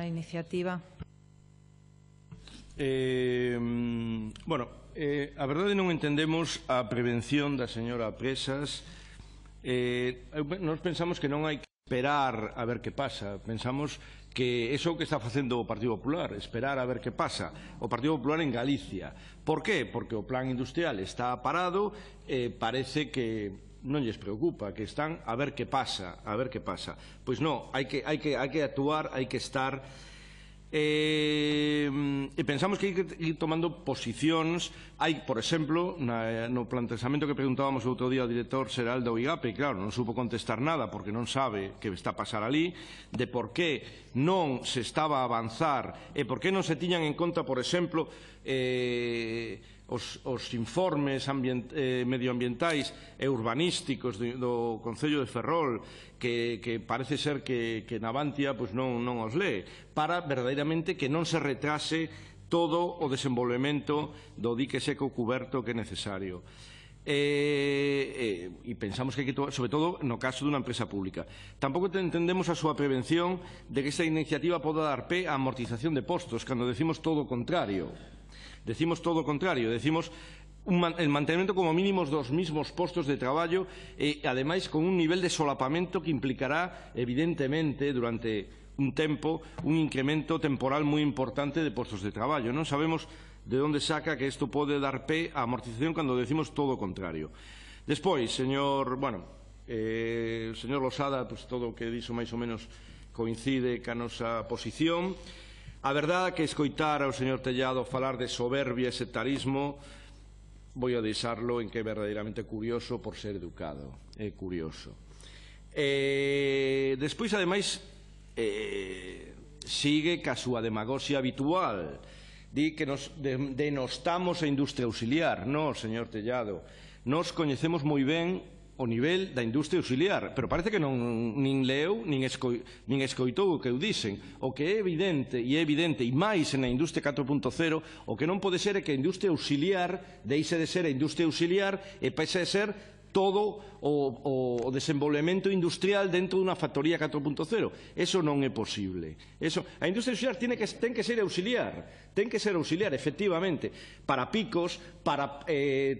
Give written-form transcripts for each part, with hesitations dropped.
esta iniciativa? A verdade non entendemos a prevención da señora Presas. Nós pensamos que non hai que esperar a ver que pasa. Pensamos que é o que está facendo o Partido Popular, esperar a ver que pasa. O Partido Popular en Galicia. Por qué? Porque o plan industrial está parado e parece que non lles preocupa, que están a ver que pasa, a ver que pasa. Pois non, hai que actuar, hai que estar. E pensamos que hai que ir tomando posicións. Hai, por exemplo, no planteamento que preguntábamos o outro día ao director xeral da UIGAP, e claro, non supo contestar nada porque non sabe que está a pasar ali, de por que non se estaba a avanzar e por que non se tiñan en conta, por exemplo, os informes medioambientais e urbanísticos do Concello de Ferrol, que parece ser que Navantia non os lee, para verdadeiramente que non se retrase todo o desenvolvemento do dique seco cuberto que é necesario. E pensamos que hai que, sobre todo no caso dunha empresa pública. Tampouco entendemos a súa prevención de que esta iniciativa poda dar pé á amortización de postos, cando decimos todo o contrario. Decimos todo o contrario, decimos el mantenimento como mínimo dos mismos postos de traballo e, ademais, con un nivel de solapamento que implicará, evidentemente, durante un tempo, un incremento temporal moi importante de postos de traballo. Non sabemos de onde saca que isto pode dar pé á amortización cando decimos todo o contrario. Despois, señor Losada, todo o que dixo máis ou menos coincide ca nosa posición. A verdade é que escoitar ao señor Tellado falar de soberbia e sectarismo, vou a deixarlo en que é verdadeiramente curioso por ser educado. É curioso. Despois, ademais, sigue ca súa demagoxia habitual. Di que nos denostamos a industria auxiliar. Non, señor Tellado. Nos coñecemos moi ben o nivel da industria auxiliar, pero parece que nin leu, nin escoitou o que eu dixen. O que é evidente, e máis na industria 4.0, o que non pode ser é que a industria auxiliar deixe de ser a industria auxiliar e pase a ser todo o desenvolvemento industrial dentro dunha factoría 4.0. Eso non é posible. A industria auxiliar ten que ser auxiliar, efectivamente, para picos, para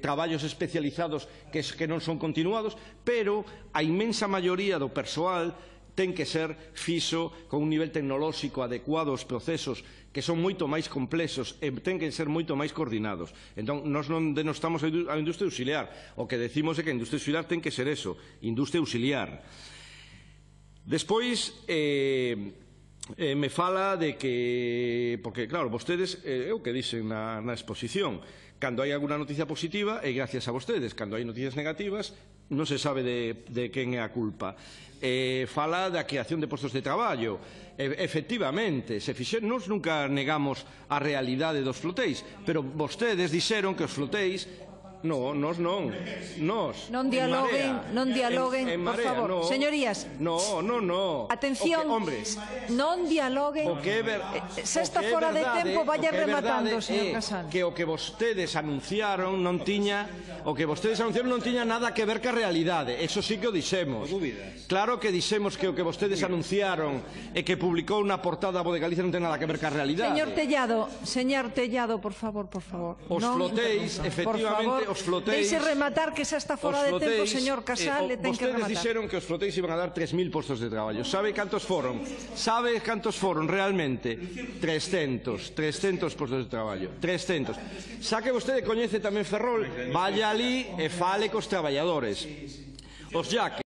traballos especializados que non son continuados, pero a inmensa maioría do persoal ten que ser fixo con un nivel tecnolóxico adecuado aos procesos que son moito máis complexos e ten que ser moito máis coordinados. Entón, nós non denostamos a industria auxiliar. O que decimos é que a industria auxiliar ten que ser eso, industria auxiliar. Despois, me fala de que, porque claro, vostedes, é o que dicen na exposición, cando hai alguna noticia positiva é gracias a vostedes, cando hai noticias negativas non se sabe de quen é a culpa. Fala da creación de postos de traballo. Efectivamente, nós nunca negamos a realidade dos flotéis, pero vostedes dixeron que os flotéis. Non, nós non. Non dialoguen, por favor. Señorías. Atención, non dialoguen. Se está fora de tempo, vaya rematando, señor Casal. Que o que vostedes anunciaron non tiña nada que ver ca realidade. Eso sí que o dixemos. Claro que dixemos que o que vostedes anunciaron e que publicou na portada a Voz de Galicia non ten nada que ver ca realidade. Señor Tellado, por favor. Os flotéis, efectivamente, deixe rematar, que xa está fora de tempo, señor Casal, e ten que rematar. Vostedes dixeron que os flotéis iban a dar 3.000 postos de traballo. Sabe cantos foron? Realmente? 300 postos de traballo. 300. Xa que vostede coñece tamén Ferrol, vaya ali e fale cos traballadores. Os yaques.